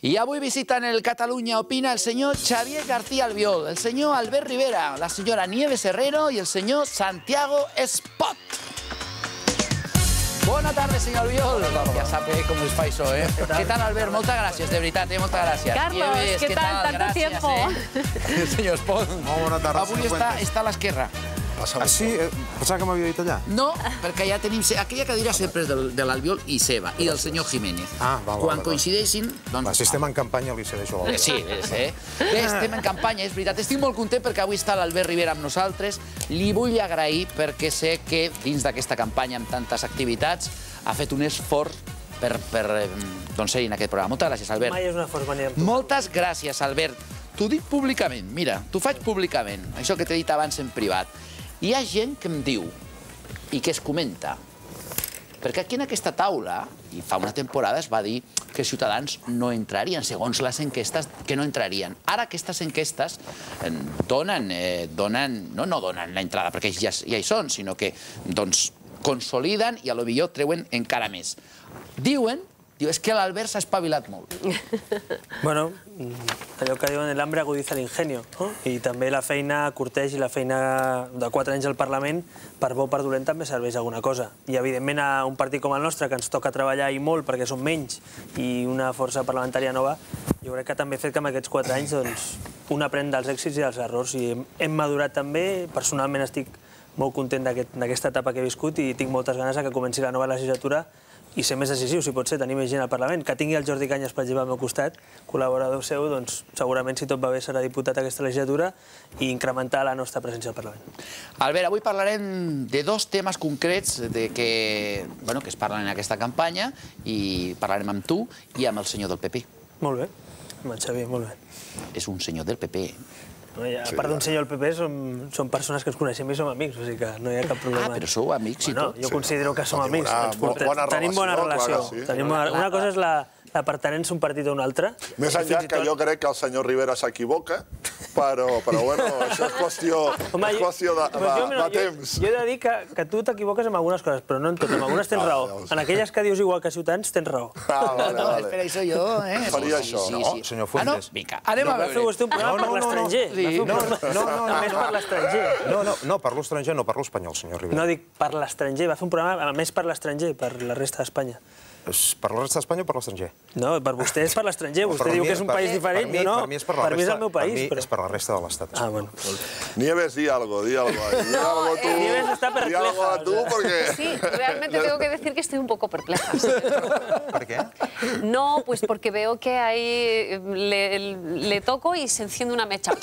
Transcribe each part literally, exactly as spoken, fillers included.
Y avui visitan el Catalunya Opina el señor Xavier García Albiol, el señor Albert Rivera, la señora Nieves Herrero y el señor Santiago Espot. Bona tarda, senyor Albiol. Ja sap com us fa això, eh? Què tal, Albert? Moltes gràcies, de veritat, eh? Moltes gràcies. Carlos, què tal? Tanto tiempo. Senyor Espot. Molt bona tarda. Avui està a l'esquerra. Ah, sí? Pensava que m'havia dit allà. No, perquè ja tenim... Aquella cadira sempre és de l'Albiol i seva, i del senyor Jiménez. Ah, val, val. Quan coincideixin... Si estem en campanya, li cedeixo l'Albiol. Sí, bé, estem en campanya, és veritat. Estic molt content perquè avui està l'Albert Rivera amb nosaltres. Li vull agrair perquè sé que dins d'aquesta campanya amb tantes activitats ha fet un esforç per ser en aquest programa. Moltes gràcies, Albert. Mai és un esforç venir amb tu. Moltes gràcies, Albert. T'ho dic públicament, mira, t'ho faig públicament, això que t'he dit abans en privat. Hi ha gent que em diu i que es comenta, perquè aquí en aquesta taula, i fa una temporada es va dir que Ciutadans no entrarien, segons les enquestes, que no entrarien. Ara aquestes enquestes donen, no no donen la entrada perquè ja hi són, sinó que consoliden i potser treuen encara més. Diuen Diu, és que l'Albert s'ha espavilat molt. Bueno, allò que diuen, l'hambre agudiza l'ingenio. I també la feina corteix i la feina de quatre anys al Parlament, per bo o per dolent, també serveix alguna cosa. I, evidentment, a un partit com el nostre, que ens toca treballar i molt perquè som menys i una força parlamentària nova, jo crec que també ha fet que en aquests quatre anys un aprèn dels èxits i dels errors. I hem madurat també. Personalment estic molt content d'aquesta etapa que he viscut i tinc moltes ganes que comenci la nova legislatura i ser més decisiu, si pot ser, tenir més gent al Parlament. Que tingui el Jordi Cañas, per exemple, al meu costat, col·laborador seu, doncs segurament, si tot va bé, serà diputat aquesta legislatura i incrementar la nostra presència al Parlament. Albert, avui parlarem de dos temes concrets que es parlen en aquesta campanya i parlarem amb tu i amb el senyor del P P. Molt bé, amb el Xavier, molt bé. És un senyor del P P. A part d'un senyor del P P, són persones que ens coneixem i som amics, o sigui que no hi ha cap problema. Ah, però sou amics i tot? Jo considero que som amics. Tenim bona relació. Una cosa és la pertinença a un partit o un altre. Més enllà que jo crec que el senyor Rivera s'equivoca, però bueno, això és qüestió de temps. Jo he de dir que tu t'equivoques amb algunes coses, però no en tot. En algunes tens raó. En aquelles que dius igual que Ciutadans, tens raó. Ah, vale, vale. Espera, això jo, eh? Faria això. No, senyor Fuentes. Vinga, anem a veure. Va fer vostè un programa per l'estranger. No, no, no. A més per l'estranger. No, no, no, parlo estranger, no parlo espanyol, senyor Rivera. No dic per l'estranger, va fer un programa a més per l'estranger, per la resta d'Espanya. Per la resta d'Espanya o per l'estranger? No, per vostè és per l'estranger. Vostè diu que és un país diferent, jo no. Per mi és per la resta. Per mi és el meu país. Per mi és per la resta de l'estat. Ah, bueno. Nieves, di algo, di algo. Di algo tú. Nieves está perpleja. Di algo tú porque... Sí, realmente tengo que decir que estoy un poco perpleja. ¿Por qué? No, pues porque veo que ahí le toco y se enciende una mecha. O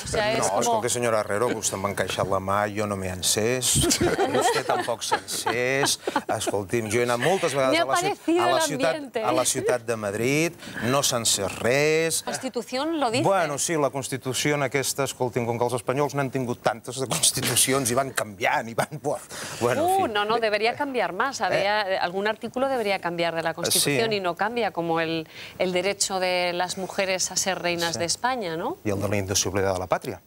sea, es como... No, como... escolti, senyora Herrero, vostè m'ha encaixat la mà, jo no m'he encès, vostè tampoc s'ha encès. Escolti'm, jo he anat moltes vegades a la ciutat a la ciutat de Madrid, no s'ha encès res. ¿La Constitución lo dice? Bueno, sí, la Constitució en aquesta, escolti'm, com que els espanyols n'han tingut tantes de constitucions i van canviant i van... Uh, no, no, debería cambiar más. Algún artículo debería cambiar de la Constitución y no cambia, como el derecho de las mujeres a ser reinas de España, ¿no? I el de la indissolubilitat de la pàtria,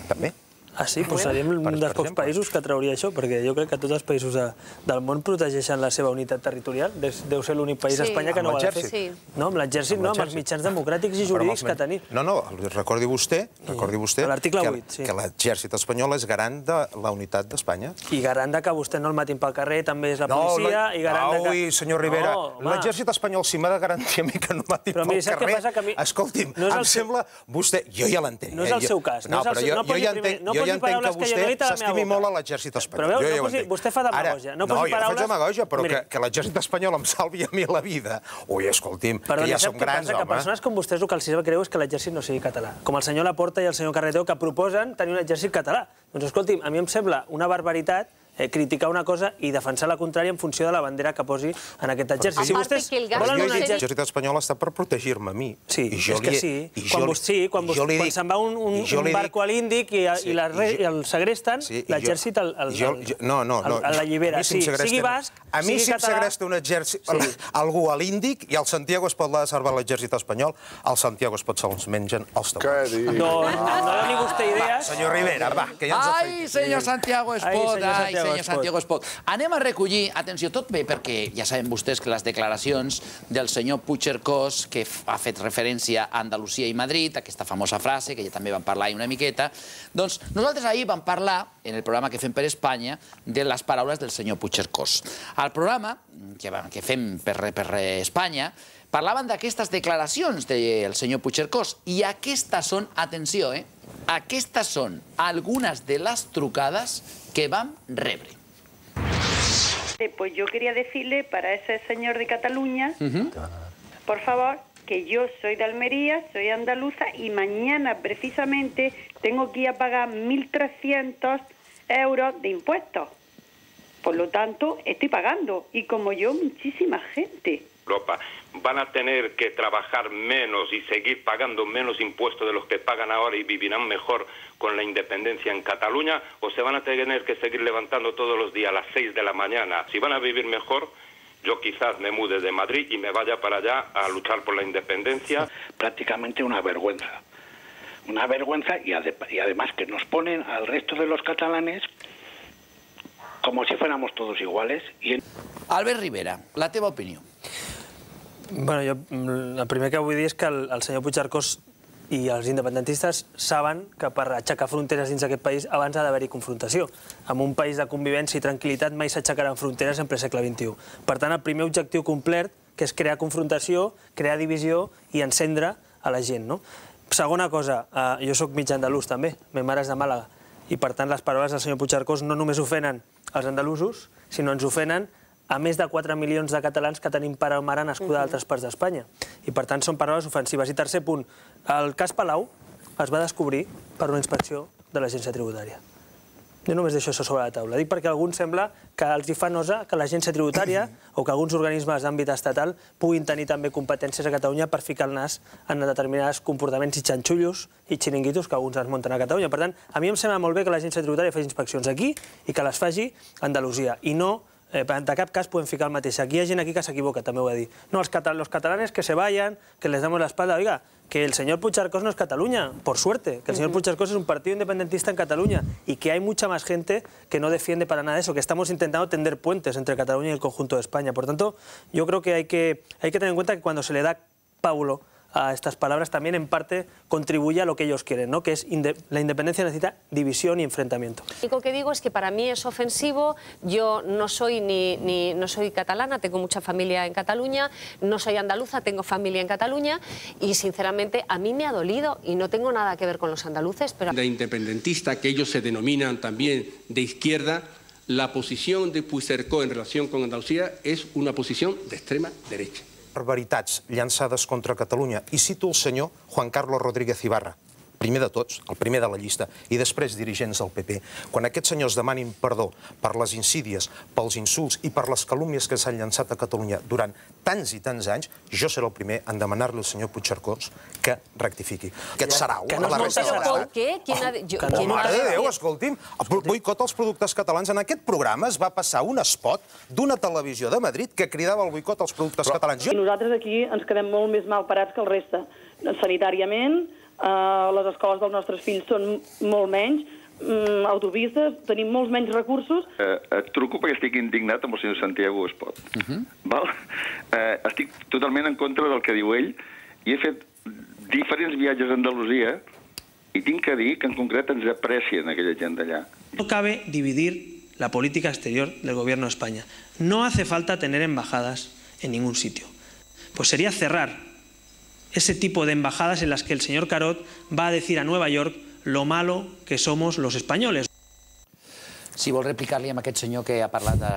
també. Ah, sí? Doncs seríem un dels pocs països que trauria això, perquè jo crec que tots els països del món protegeixen la seva unitat territorial. Deu ser l'únic país a Espanya que no ho ha de fer. No, amb l'exèrcit no, amb els mitjans democràtics i jurídics que tenim. No, no, recordi vostè que l'exèrcit espanyol és garant de la unitat d'Espanya. I garant que vostè no el matin pel carrer, també és la policia, i garant que... No, senyor Rivera, l'exèrcit espanyol si m'ha de garantir a mi que no el matin pel carrer... Escolti'm, em sembla... Vostè... Jo ja l'entenc. No és el seu cas. No, però jo ja entenc... Jo ja entenc que vostè s'estimi molt a l'exèrcit espanyol. Però veus, vostè fa demagògia. No, jo no faig demagògia, però que l'exèrcit espanyol em salvi a mi la vida. Ui, escolti'm, que ja som grans, home. Que persones com vostès el que els sap greu és que l'exèrcit no sigui català. Com el senyor Laporta i el senyor Carretero, que proposen tenir un exèrcit català. Doncs escolti'm, a mi em sembla una barbaritat criticar una cosa i defensar la contrària en funció de la bandera que posi en aquest exèrcit. Si vostès volen un l'exèrcit espanyol està per protegir-me a mi. Sí, és que sí. Quan se'n va un barco a l'Índic i el segresten, l'exèrcit l'allibera. Sigui basc, a mi si em segresta un exèrcit, algú a l'Índic i al Santiago es pot salvar l'exèrcit espanyol, al Santiago es pot se'ls mengen els taüts. No doni vostè idees. Senyor Rivera, va, que ja ens ha fet... Ai, senyor Santiago Espot, ai, senyor Santiago Espot. Anem a recollir, atenció, tot bé, perquè ja saben vostès que les declaracions del senyor Puigcercós, que ha fet referència a Andalusia i Madrid, aquesta famosa frase, que ja també vam parlar ahir una miqueta, doncs nosaltres ahir vam parlar, en el programa que fem per Espanya, de les paraules del senyor Puigcercós. Al programa que fem per Espanya, parlaven d'aquestes declaracions del senyor Puigcercós i aquestes són, atenció, eh, aquestes són algunes de les trucades que vam rebre. Pues yo quería decirle para ese señor de Cataluña, por favor, que yo soy de Almería, soy andaluza y mañana precisamente tengo que ir a pagar mil trescientos euros de impuestos. Por lo tanto, estoy pagando, y como yo, muchísima gente. Europa van a tener que trabajar menos y seguir pagando menos impuestos de los que pagan ahora y vivirán mejor con la independencia en Cataluña, o se van a tener que seguir levantando todos los días a las seis de la mañana. Si van a vivir mejor, yo quizás me mude de Madrid y me vaya para allá a luchar por la independencia. Prácticamente una vergüenza. Una vergüenza y, ade y además que nos ponen al resto de los catalanes como si fuéramos todos iguales. Y... Albert Rivera, la teva opinió. Bueno, jo, el primer que vull dir és que el, el senyor Puigcercós i els independentistes saben que per aixecar fronteres dins d'aquest país abans ha d'haver-hi confrontació. En un país de convivència i tranquil·litat mai s'aixecaran fronteres en ple segle vint-i-u. Per tant, el primer objectiu complet, que és crear confrontació, crear divisió i encendre a la gent, no? Segona cosa, eh, jo soc mig andalús també, ma mare és de Màlaga, i per tant les paraules del senyor Puigcercós no només ofenen els andalusos, sinó ens ofenen a més de quatre milions de catalans que tenim pare o mare nascuda a altres parts d'Espanya. I per tant són paraules ofensives. I tercer punt, el cas Palau es va descobrir per una inspecció de l'agència tributària. Jo només deixo això sobre la taula. Dic perquè a alguns sembla que els hi fa nosa que l'agència tributària o que alguns organismes d'àmbit estatal puguin tenir també competències a Catalunya per ficar el nas en determinats comportaments i xanxullos i xiringuitos que alguns es munten a Catalunya. Per tant, a mi em sembla molt bé que l'agència tributària faci inspeccions aquí i que les faci a Andalusia. I no, de cap cas podem ficar el mateix. Aquí hi ha gent aquí que s'equivoca, també ho he dit. No, els catalanes que se vayan, que les damos la espalda. Oiga, que el señor Puigcercós no es Cataluña, por suerte, que el señor Puigcercós es un partido independentista en Cataluña y que hay mucha más gente que no defiende para nada eso, que estamos intentando tender puentes entre Cataluña y el conjunto de España. Por tanto, yo creo que hay que, hay que tener en cuenta que cuando se le da pábulo a estas palabras también en parte contribuye a lo que ellos quieren, ¿no? Que es inde la independencia necesita división y enfrentamiento. Lo único que digo es que para mí es ofensivo. Yo no soy ni, ni no soy catalana, tengo mucha familia en Cataluña, no soy andaluza, tengo familia en Cataluña y sinceramente a mí me ha dolido y no tengo nada que ver con los andaluces, pero de independentista, que ellos se denominan también de izquierda, la posición de Puigcercós en relación con Andalucía es una posición de extrema derecha. Barbaritats llançades contra Catalunya. I cito el senyor Juan Carlos Rodríguez Ibarra, primer de tots, el primer de la llista, i després dirigents del P P. Quan aquests senyors demanin perdó per les insídies, pels insults i per les calúmnies que s'han llançat a Catalunya durant tants i tants anys, jo seré el primer en demanar-li al senyor Puigcercós que rectifiqui. Aquest sarau. Que no es però per què? Oh, mare de Déu, escolti'm, boicot als productes catalans. En aquest programa es va passar un spot d'una televisió de Madrid que cridava el boicot als productes catalans. I nosaltres aquí ens quedem molt més mal parats que el reste. Sanitàriament, les escoles dels nostres fills són molt menys, autopistes, tenim molts menys recursos. Et truco perquè estic indignat amb el senyor Santiago Espot. Estic totalment en contra del que diu ell i he fet diferents viatges a Andalusia i tinc que dir que en concret ens aprecien aquella gent d'allà. No cabe dividir la política exterior del gobierno de España. No hace falta tener embajadas en ningún sitio. Pues sería cerrar ese tipo de embajadas en las que el señor Carod va a decir a Nueva York lo malo que somos los españoles. Si vol replicar-li amb aquest senyor que ha parlat de...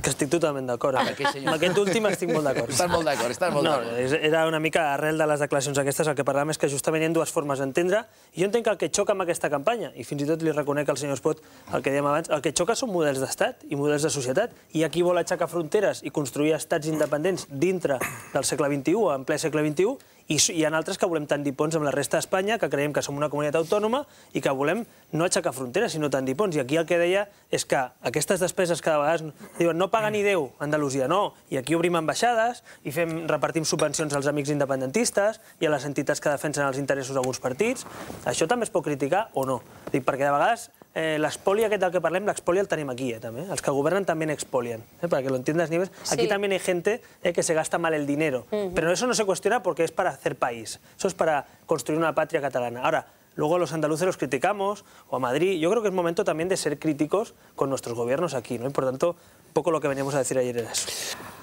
Que estic totalment d'acord. Amb aquest últim estic molt d'acord. Estàs molt d'acord, estàs molt d'acord. No, era una mica arrel de les declaracions aquestes, el que parlàvem és que justament hi ha dues formes d'entendre, i jo entenc que el que xoca amb aquesta campanya, i fins i tot li reconec al senyor Espot el que dèiem abans, el que xoca són models d'estat i models de societat, i aquí vol aixecar fronteres i construir estats independents dintre del segle vint-i-u, en ple segle vint-i-u, i hi ha altres que volem tendir ponts amb la resta d'Espanya, que creiem que som una comunitat autònoma i que volem no aixecar fronteres, sinó tendir ponts. I aquí el que deia és que aquestes despeses que de vegades diuen no paga ni Déu a Andalusia, no, i aquí obrim ambaixades i fem, repartim subvencions als amics independentistes i a les entitats que defensen els interessos d'alguns partits. Això també es pot criticar o no? Dic, perquè de vegades l'espoli aquest del que parlem, l'espoli el tenim aquí, també. Els que gobernen també expolian. Para que lo entiendas, Nieves, aquí también hay gente que se gasta mal el dinero. Pero eso no se cuestiona porque es para hacer país. Eso es para construir una patria catalana. Ahora, luego los andaluces los criticamos, o a Madrid. Yo creo que es momento también de ser críticos con nuestros gobiernos aquí, ¿no? Y por tanto, poco lo que veníamos a decir ayer era eso.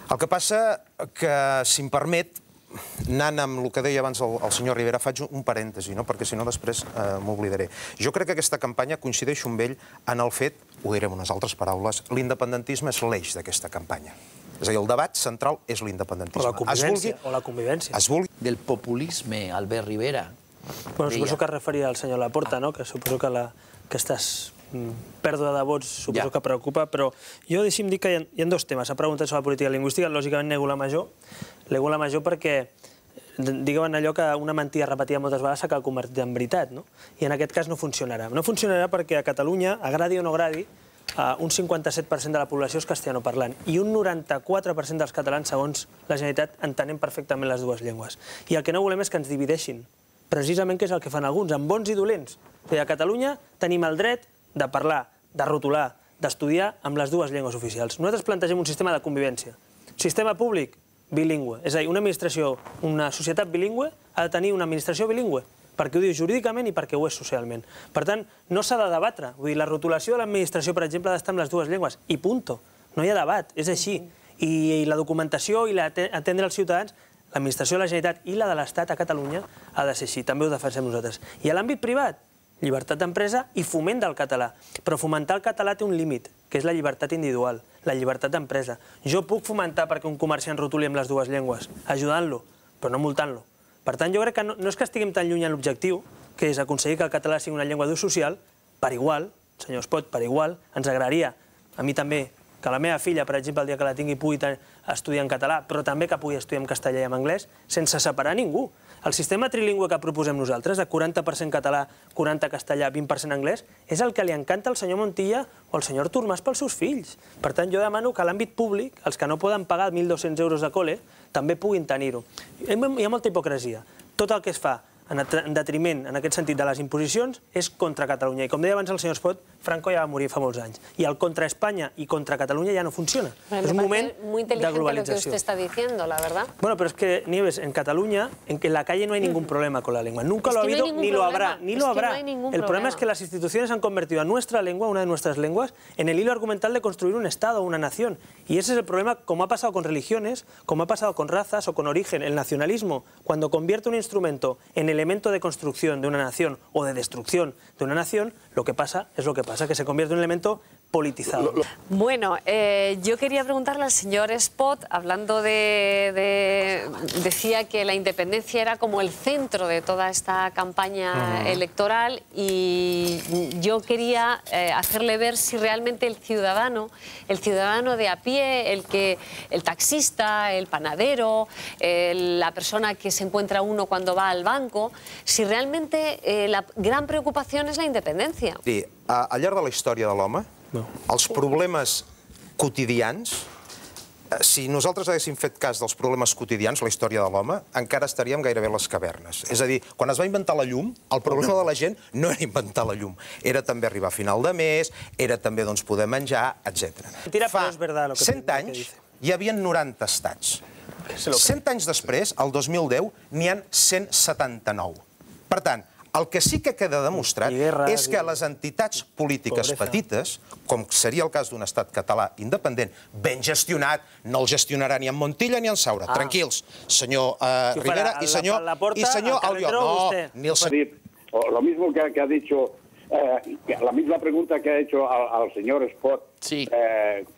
El que passa que, si em permet, anant amb el que deia abans el, el senyor Rivera, faig un parèntesi, no? Perquè si no després eh, m'oblidaré. Jo crec que aquesta campanya coincideix amb ell en el fet, ho diré amb unes altres paraules, l'independentisme és l'eix d'aquesta campanya. És a dir, el debat central és l'independentisme. O la convivència. O la convivència. Es vulgui... Del populisme, Albert Rivera. Bueno, suposo que es referia al senyor Laporta, no? Que suposo que la, aquestes pèrdua de vots suposo que preocupa, però jo deixi'm dir que hi ha, hi ha dos temes. Ha preguntat sobre la política lingüística, lògicament nego la major, nego la major perquè diguem allò que una mentida repetida moltes vegades s'acaba convertit en veritat, no? I en aquest cas no funcionarà. No funcionarà perquè a Catalunya, agradi o no agradi, un cinquanta-set per cent de la població és castellanoparlant i un noranta-quatre per cent dels catalans, segons la Generalitat, entenem perfectament les dues llengües. I el que no volem és que ens divideixin, precisament que és el que fan alguns, amb bons i dolents. O sigui, a Catalunya tenim el dret de parlar, de rotular, d'estudiar amb les dues llengües oficials. Nosaltres plantegem un sistema de convivència. Sistema públic, bilingüe. És a dir, una administració, una societat bilingüe ha de tenir una administració bilingüe, perquè ho diu jurídicament i perquè ho és socialment. Per tant, no s'ha de debatre. Vull dir, la rotulació de l'administració, per exemple, ha d'estar amb les dues llengües. I punto. No hi ha debat, és així. I la documentació i atendre els ciutadans, l'administració de la Generalitat i la de l'Estat a Catalunya ha de ser així. També ho defensem nosaltres. I a l'àmbit privat, llibertat d'empresa i foment del català. Però fomentar el català té un límit, que és la llibertat individual, la llibertat d'empresa. Jo puc fomentar perquè un comerciant rotuli amb les dues llengües, ajudant-lo, però no multant-lo. Per tant, jo crec que no, no és que estiguem tan lluny en l'objectiu, que és aconseguir que el català sigui una llengua d'ús social, per igual, senyor Espot, per igual, ens agradaria, a mi també, que la meva filla, per exemple, el dia que la tingui pugui estudiar en català, però també que pugui estudiar en castellà i en anglès, sense separar ningú. El sistema trilingüe que proposem nosaltres, de quaranta per cent català, quaranta castellà, vint per cent anglès, és el que li encanta al senyor Montilla o al senyor Artur Mas pels seus fills. Per tant, jo demano que a l'àmbit públic, els que no poden pagar mil dos-cents euros de col·le, també puguin tenir-ho. Hi ha molta hipocresia. Tot el que es fa en detriment, en aquest sentit, de les imposicions, és contra Catalunya. I com deia abans el senyor Espot, Franco ja va morir fa molts anys. I el contra Espanya i contra Catalunya ya no funciona. Es un moment de globalización. Lo que usted está diciendo, la verdad. Bueno, pero es que, Nieves, en Cataluña, en que en la calle no hay ningún problema con la lengua. Nunca lo ha habido, ni lo habrá, ni lo habrá. El problema es que las instituciones han convertido a nuestra lengua, una de nuestras lenguas, en el hilo argumental de construir un Estado, una nación. Y ese es el problema, como ha pasado con religiones, como ha pasado con razas o con origen. El nacionalismo, cuando convierte un instrumento en elemento de construcción de una nación o de destrucción de una nación, lo que pasa es lo que pasa, que se convierte en un elemento politizado. Bueno, eh, yo quería preguntarle al señor Espot, hablando de, de... decía que la independencia era como el centro de toda esta campaña uh-huh. electoral, y yo quería eh, hacerle ver si realmente el ciudadano, el ciudadano de a pie, el, que, el taxista, el panadero, el, la persona que se encuentra uno cuando va al banco, si realmente eh, la gran preocupación es la independencia. Sí, al llarg de la història de l'home, no. els problemes quotidians, si nosaltres haguéssim fet cas dels problemes quotidians, la història de l'home, encara estaríem gairebé a les cavernes. És a dir, quan es va inventar la llum, el problema de la gent no era inventar la llum, era també arribar a final de mes, era també doncs, poder menjar, etcètera. Fa cent anys hi havia noranta estats. cent anys després, el dos mil deu, n'hi ha cent setanta-nou. Per tant, el que sí que queda demostrat és que les entitats polítiques petites, com seria el cas d'un estat català independent, ben gestionat, no el gestionarà ni en Montilla ni en Saura. Tranquils, senyor Rivera y señor Albiol. No, ni el senyor... Lo mismo que ha dicho, la misma pregunta que ha hecho al señor Espot,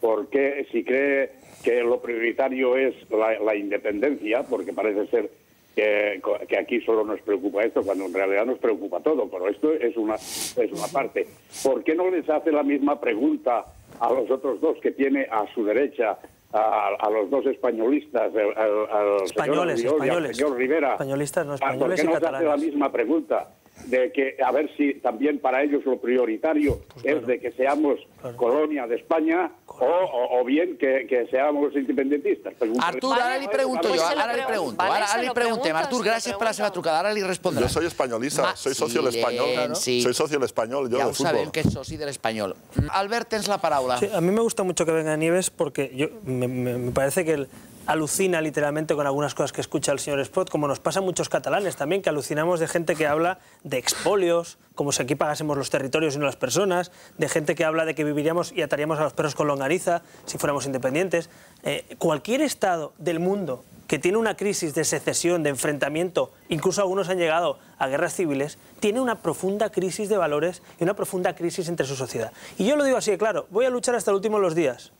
¿por qué si cree que lo prioritario es la independencia? Porque parece ser Que, que aquí solo nos preocupa esto, cuando en realidad nos preocupa todo, pero esto es una, es una parte. ¿Por qué no les hace la misma pregunta a los otros dos que tiene a su derecha, a, a los dos españolistas, al, al españoles, señor Albiol españoles. y al señor Rivera? Españolistas, no españoles. ¿Por qué no les hace la misma pregunta? de que a ver si también para ellos lo prioritario pues claro. es de que seamos claro. colonia de España o, o, o bien que, que seamos independentistas. Artur, vale, ara li pregunto pues jo, ara li pregunto, vale, ara li preguntem. Artur, gràcies per la seva trucada, ara li respondrà. Yo soy españolista, Ma soy socio del Español. Claro. Sí. Soy socio del Español, yo ya de fútbol. Ya sabem que es socio del Español. Albert, tens la paraula. Sí, a mí me gusta mucho que venga Nieves porque yo, me, me, me parece que él alucina literalmente con algunas cosas que escucha el señor Espot, como nos pasa a muchos catalanes también, que alucinamos de gente que habla de expolios, como si aquí pagásemos los territorios y no las personas, de gente que habla de que viviríamos y ataríamos a los perros con longaniza si fuéramos independientes. Eh, cualquier estado del mundo que tiene una crisis de secesión, de enfrentamiento, incluso algunos han llegado a guerras civiles, tiene una profunda crisis de valores y una profunda crisis entre su sociedad. Y yo lo digo así de claro, voy a luchar hasta el último de los días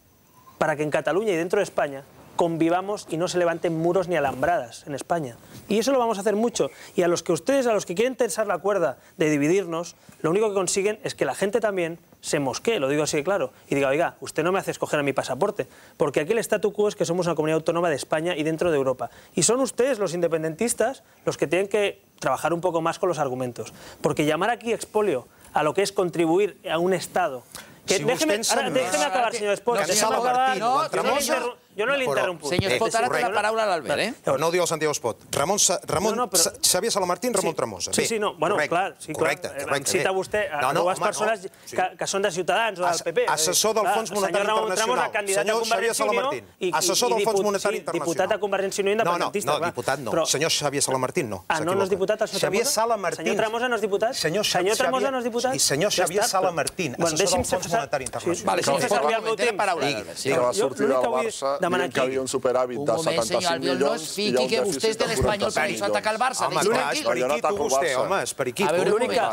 para que en Cataluña y dentro de España convivamos y no se levanten muros ni alambradas en España. Y eso lo vamos a hacer mucho. Y a los que ustedes, a los que quieren tensar la cuerda de dividirnos, lo único que consiguen es que la gente también se mosquee, lo digo así de claro, y diga, oiga, usted no me hace escoger a mi pasaporte, porque aquí el statu quo es que somos una comunidad autónoma de España y dentro de Europa. Y son ustedes, los independentistas, los que tienen que trabajar un poco más con los argumentos. Porque llamar aquí expolio a lo que es contribuir a un Estado... Que, si déjeme, ahora, déjeme acabar, señor Espot. No, déjeme acabar. No, no, jo no li interrompo. Senyor Espot, ara té la paraula a l'Albert, eh? No, no ho diu el Santiago Espot. Ramon, Ramon no, no, però... Xavier Salamartín, Ramon sí. Tremosa. Sí, sí, no, bueno, correcte, clar. Sí, correcte, clar. correcte. Cita vostè a no, no, dues home, persones no, sí. que, que són de Ciutadans o del P P. Assessor del Fons Monetari Internacional. Senyor Xavier Salamartín. Assessor del Fons Monetari Internacional. Diputat a Convergència i Unió independentista. No, no, diputat no. Senyor Xavier Salamartín no. Ah, no, no és diputat el senyor Xavier Salamartín. Senyor Tremosa no és diputat? Senyor Tremosa no és diputat? I senyor Xavier Salamartín, assessor del Fons Monetari Internacional. Té la paraula. Que va sortir del Barça dient que havia un superàvit de setanta-cinc milions i hi ha un dèficit de quaranta-cinc milions. Atacar el Barça. Home, clar, és periquito vostè, home, és periquito. A veure,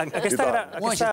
aquesta...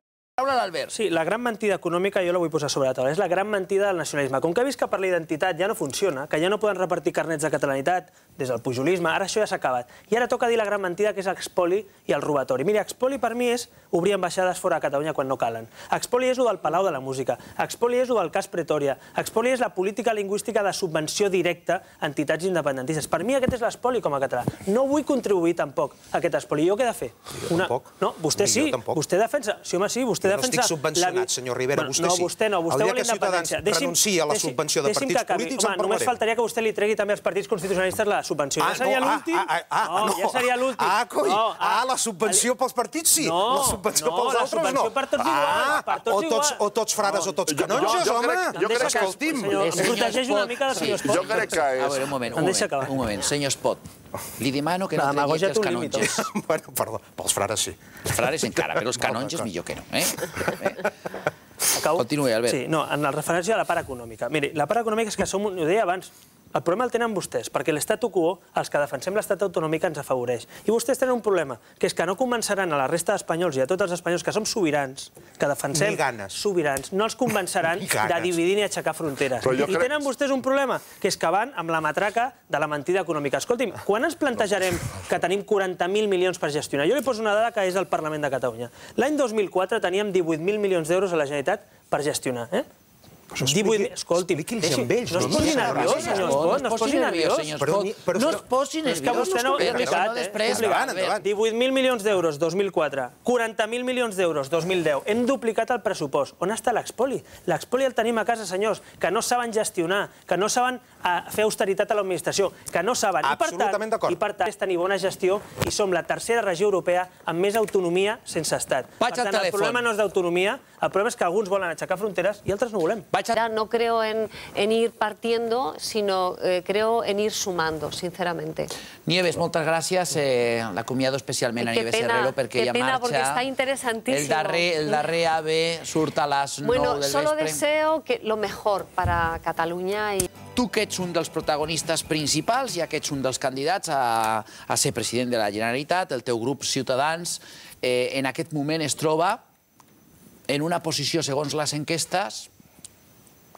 Sí, la gran mentida econòmica jo la vull posar sobre la taula. És la gran mentida del nacionalisme. Com que ha vist que per la identitat ja no funciona, que ja no poden repartir carnets de catalanitat des del pujolisme, ara això ja s'ha acabat. I ara toca dir la gran mentida que és l'expoli i el robatori. Mira, expoli per mi és obrir ambaixades fora de Catalunya quan no calen. Expoli és el del Palau de la Música. Expoli és el del cas Pretòria. Expoli és la política lingüística de subvenció directa a entitats independentistes. Per mi aquest és l'espoli com a català. No vull contribuir tampoc a aquest espoli. Jo què he de fer? Jo tampoc. No, vostè sí. Vostè defensa... Sí, home, sí, vostè no estic subvencionat, senyor Rivera, vostè sí. No, vostè no, vostè vol la independència. El dia que Ciutadans renuncia a la subvenció de partits polítics en parlarem. Només faltaria que vostè li tregui també als partits constitucionalistes la subvenció. Ja seria l'últim. Ja seria l'últim. Ah, coi, ah, la subvenció pels partits sí, la subvenció pels altres no. No, la subvenció per tots igual, per tots igual. O tots frares o tots canonges, home. Jo crec que... Escolti'm. Em protegeix una mica del senyor Espot. Jo crec que és... A veure, un moment, un moment, senyor Espot. Li demano que no tregui els canonges. Bueno, perdó, pels frares sí. Els frares encara, però els canonges millor que no, eh? Continuï, Albert. Sí, no, en la referència a la part econòmica. Miri, la part econòmica és que som, ho deia abans, el problema el tenen vostès, perquè l'estatu quo, els que defensem l'estat autonòmic, ens afavoreix. I vostès tenen un problema, que és que no convenceran a la resta d'espanyols i a tots els espanyols que som sobirans, que defensem sobirans, no els convenceran de dividir ni aixecar fronteres. I tenen vostès un problema, que és que van amb la matraca de la mentida econòmica. Escolti'm, quan ens plantejarem que tenim quaranta mil milions per gestionar? Jo li poso una dada que és del Parlament de Catalunya. L'any dos mil quatre teníem divuit mil milions d'euros a la Generalitat per gestionar, eh? Escolti'm, no es posi nerviós, senyor Espot, no es posi nerviós. No es posi nerviós. És que vostè no ho ha explicat, eh? divuit mil milions d'euros, dos mil quatre. quaranta mil milions d'euros, dos mil deu. Hem duplicat el pressupost. On està l'expoli? L'expoli el tenim a casa, senyors, que no saben gestionar, que no saben fer austeritat a l'administració, que no saben. Absolutament d'acord. I per tant, és tenir bona gestió i som la tercera regió europea amb més autonomia sense estat. Per tant, el problema no és d'autonomia, el problema és que alguns volen aixecar fronteres i altres no volem. No creo en, en ir partiendo, sino eh, creo en ir sumando, sinceramente. Nieves, moltes gràcies. Eh, L'acomiado especialment a Nieves Herrero perquè ella marxa. Qué pena, porque está interesantísimo. El darrer, el darrer AVE surt a les nou bueno, del vespre. Solo deseo que lo mejor para Cataluña. Y... Tu que ets un dels protagonistes principals, ja que ets un dels candidats a, a ser president de la Generalitat, el teu grup Ciutadans, eh, en aquest moment es troba en una posició, segons les enquestes,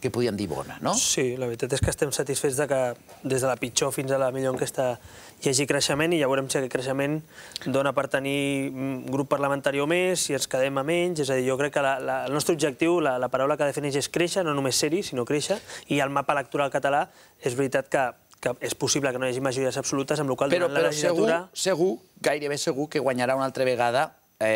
que podien dir bona, no? Sí, la veritat és que estem satisfets que des de la pitjor fins a la millor enquesta hi hagi creixement i ja veurem si aquest creixement dona per tenir un grup parlamentari o més, si ens quedem a menys. És a dir, jo crec que el nostre objectiu, la paraula que defineix és créixer, no només ser-hi, sinó créixer, i el mapa electoral català és veritat que és possible que no hi hagi majories absolutes, amb la qual cosa durant la legislatura... Però segur, gairebé segur, que guanyarà una altra vegada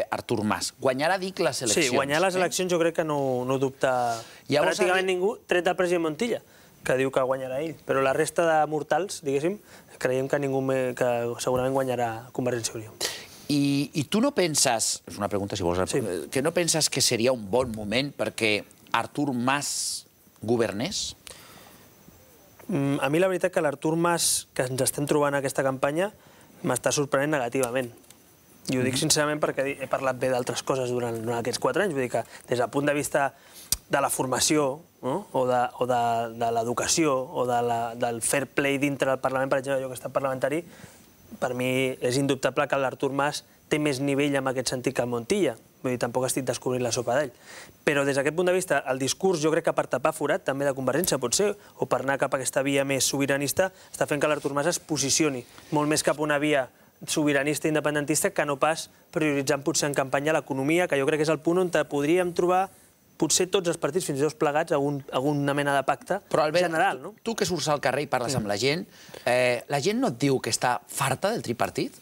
Artur Mas. Guanyarà, dic, les eleccions. Sí, guanyar les eleccions jo crec que no dubta pràcticament ningú, tret del president Montilla, que diu que guanyarà ell. Però la resta de mortals, diguéssim, creiem que ningú que segurament guanyarà Convergència i Unió. I tu no penses, és una pregunta si vols, que no penses que seria un bon moment perquè Artur Mas governés? A mi la veritat que l'Artur Mas que ens estem trobant en aquesta campanya m'està sorprenent negativament. I ho dic sincerament perquè he parlat bé d'altres coses durant aquests quatre anys. Vull dir que des del punt de vista de la formació o de l'educació o del fair play dintre del Parlament, per exemple, jo que he estat parlamentari, per mi és indubtable que l'Artur Mas té més nivell en aquest sentit que el Montilla. Vull dir, tampoc estic descobrint la sopa d'ell. Però des d'aquest punt de vista, el discurs, jo crec que per tapar forat, també de Convergència, pot ser, o per anar cap a aquesta via més sobiranista, està fent que l'Artur Mas es posicioni molt més cap a una via sobiranista i independentista que no pas prioritzant potser en campanya l'economia, que jo crec que és el punt on podríem trobar potser tots els partits, fins i tot plegats, alguna mena de pacte general. Però, Albert, tu que surts al carrer i parles amb la gent, la gent no et diu que està farta del tripartit?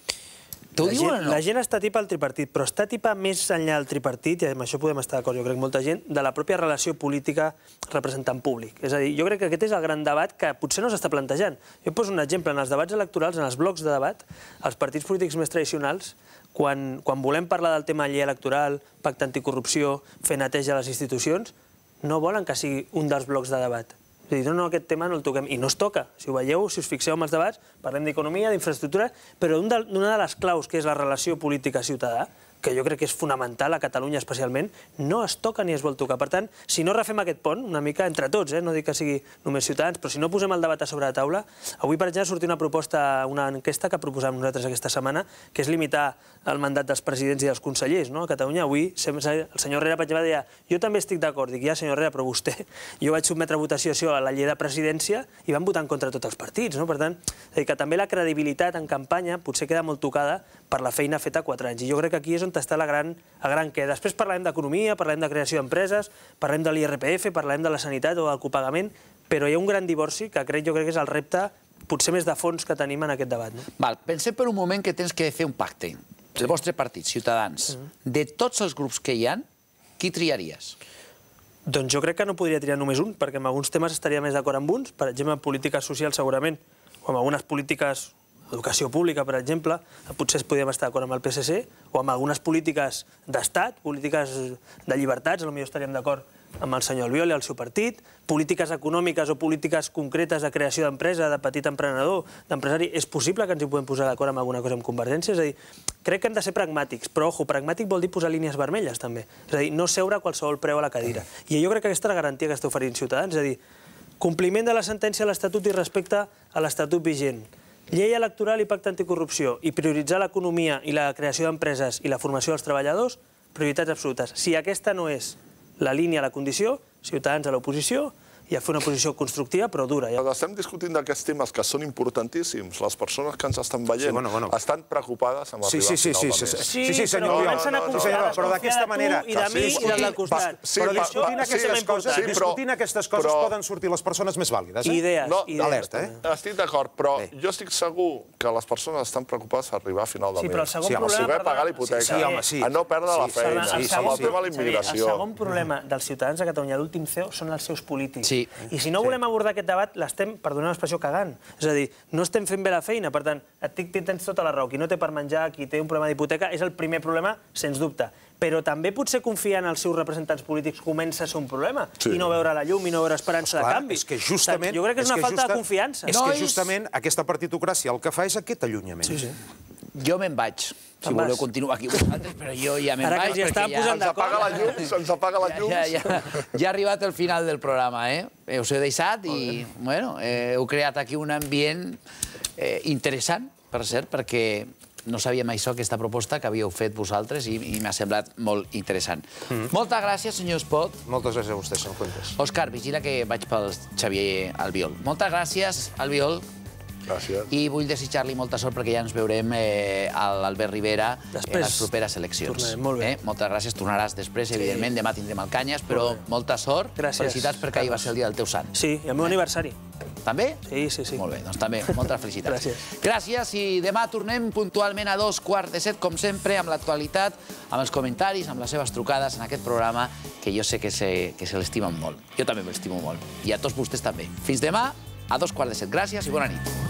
T'ho diuen o no? La gent està tipa al tripartit, però està tipa més enllà del tripartit, i amb això podem estar d'acord, jo crec, molta gent, de la pròpia relació política representant públic. És a dir, jo crec que aquest és el gran debat que potser no s'està plantejant. Jo poso un exemple, en els debats electorals, en els blocs de debat, els partits polítics més tradicionals, quan volem parlar del tema llei electoral, pacte anticorrupció, fer neteja a les institucions, no volen que sigui un dels blocs de debat. És a dir, no, aquest tema no el toquem. I no es toca. Si ho veieu, si us fixeu en els debats, parlem d'economia, d'infraestructura, però una de les claus, que és la relació política-ciutadà, que jo crec que és fonamental a Catalunya especialment, no es toca ni es vol tocar. Per tant, si no refem aquest pont, una mica entre tots, no dic que sigui només Ciutadans, però si no posem el debat a sobre la taula, avui, per exemple, sortia una proposta, una enquesta que proposàvem nosaltres aquesta setmana, que és limitar el mandat dels presidents i dels consellers a Catalunya. Avui el senyor Herrera, per exemple, deia jo també estic d'acord. Dic, ja, senyor Herrera, però vostè, jo vaig sotmetre a votació això a la llei de presidència i van votar en contra tots els partits. Per tant, que també la credibilitat en campanya potser queda molt tocada per la feina feta a quatre anys. I jo crec que aquí és on està la gran què. Després parlarem d'economia, parlarem de creació d'empreses, parlarem de l'I R P F, parlarem de la sanitat o del copagament, però hi ha un gran divorci que crec jo crec que és el repte potser més de fons que tenim en aquest debat. Pensem per un moment que tens que fer un pacte. El vostre partit, Ciutadans, de tots els grups que hi ha, qui triaries? Doncs jo crec que no podria triar només un, perquè en alguns temes estaria més d'acord amb uns, per exemple, en polítiques socials segurament, o en algunes polítiques educació pública, per exemple, potser podríem estar d'acord amb el P S C, o amb algunes polítiques d'estat, polítiques de llibertats, potser estaríem d'acord amb el senyor Albiol i el seu partit, polítiques econòmiques o polítiques concretes de creació d'empresa, de petit emprenedor, d'empresari, és possible que ens hi podem posar d'acord amb alguna cosa amb Convergència? És a dir, crec que hem de ser pragmàtics, però, ojo, pragmàtic vol dir posar línies vermelles, també. És a dir, no seure a qualsevol preu a la cadira. I jo crec que aquesta és la garantia que està oferint Ciutadans, és a dir, compliment de la sentència a l'Estatut i respecte a l'Estatut vigent, llei electoral i pacte anticorrupció, i prioritzar l'economia i la creació d'empreses i la formació dels treballadors, prioritats absolutes. Si aquesta no és la línia, la condició, Ciutadans a l'oposició, i a fer una posició constructiva, però dura. Estem discutint d'aquests temes que són importantíssims. Les persones que ens estan veient estan preocupades amb arribar al final de mes. Sí, sí, senyor Oriol, però d'aquesta manera... I de mi i del costat. Però discutint aquestes coses poden sortir les persones més vàlides. Idees. Alerta, eh? Estic d'acord, però jo estic segur que les persones estan preocupades a arribar a final de mes. Sí, però el segon problema... A saber pagar l'hipoteca, a no perdre la feina, amb el tema de la immigració. El segon problema dels ciutadans de Catalunya, l'últim C E O, són els seus polítics. I si no volem abordar aquest debat, l'estem, perdoneu l'expressió, cagant. És a dir, no estem fent bé la feina. Per tant, tens tota la raó. Qui no té per menjar, qui té un problema d'hipoteca, és el primer problema, sens dubte. Però també potser confiar en els seus representants polítics comença a ser un problema. I no veure la llum i no veure esperança de canvi. És que justament... Jo crec que és una falta de confiança. És que justament aquesta partitocràcia el que fa és aquest allunyament. Sí, sí. Jo me'n vaig. Si voleu continuar aquí vosaltres, però jo ja me'n vaig. Ara que ja estan posant d'acord. Se'ns apaga la llum. Ja ha arribat el final del programa, eh? Us he deixat i, bueno, heu creat aquí un ambient interessant, per cert, perquè no sabíem això, aquesta proposta que havíeu fet vosaltres, i m'ha semblat molt interessant. Moltes gràcies, senyor Espot. Moltes gràcies a vostès, senyor Fuentes. Òscar, vigila que vaig pel Xavier Albiol. Moltes gràcies, Albiol. Gràcies. I vull desitjar-li molta sort perquè ja ens veurem a l'Albert Rivera en les properes eleccions. Tornarem, molt bé. Moltes gràcies, tornaràs després, evidentment, demà tindrem el Canyes, però molta sort. Felicitats perquè ahir va ser el dia del teu sant. Sí, i el meu aniversari. També? Sí, sí, sí. Molt bé, doncs també, moltes felicitats. Gràcies. Gràcies, i demà tornem puntualment a dos quarts de set, com sempre, amb l'actualitat, amb els comentaris, amb les seves trucades en aquest programa, que jo sé que se, que se l'estimen molt. Jo també me l'estimo molt. I a tots vostès també. Fins demà, a dos quarts de set. Gràcies i bona nit.